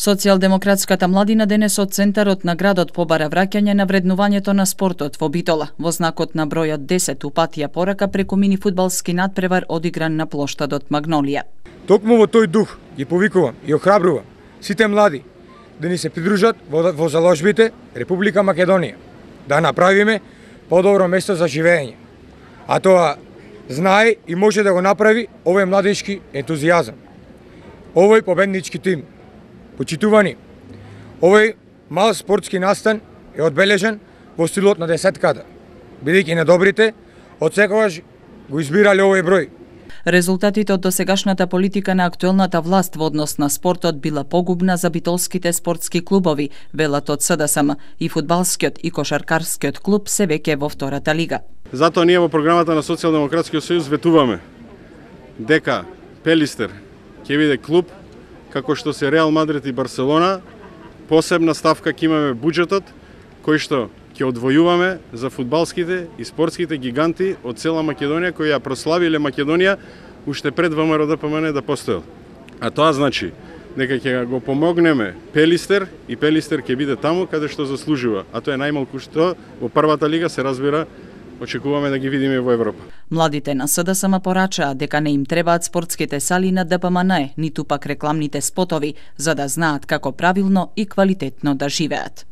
Социјалдемократската младина денес од центарот на градот побара враќање на вреднувањето на спортот во Битола, во знакот на бројот 10 упатија порака преку мини фудбалски надпревар одигран на плоштадот Магнолија. Токму во тој дух ги повикувам и охрабрувам сите млади да ни се придружат во заложбите Република Македонија, да направиме подобро место за живење. А тоа знае и може да го направи овој младички ентузијазам. Овој победнички тим. Почитувани, овој мал спортски настан е одбележен во стилот на десетката, бидејќи недобрите одсекогаш го избирале овој број. Резултатите од досегашната политика на актуелната власт во однос на спортот била погубна за битолските спортски клубови, велат од СДСМ, и фудбалскиот и кошаркарскиот клуб се веќе во втората лига. Затоа ние во програмата на Социјалдемократскиот сојуз ветуваме дека Пелистер ќе биде клуб како што се Реал Мадрид и Барселона. Посебна ставка ќе имаме буџетот кој што ќе одвојуваме за фудбалските и спортските гиганти од цела Македонија кои ја прославиле Македонија уште пред ВМРО-ДПМН да постоел. А тоа значи дека ќе го помогнеме Пелистер и Пелистер ќе биде таму каде што заслужува, а тоа е најмалку што во првата лига, се разбира, очекуваме да ги видиме во Европа. Младите на СДСМ порачаа дека не им требаат спортските сали на ДПМН, ниту пак рекламните спотови, за да знаат како правилно и квалитетно да живеат.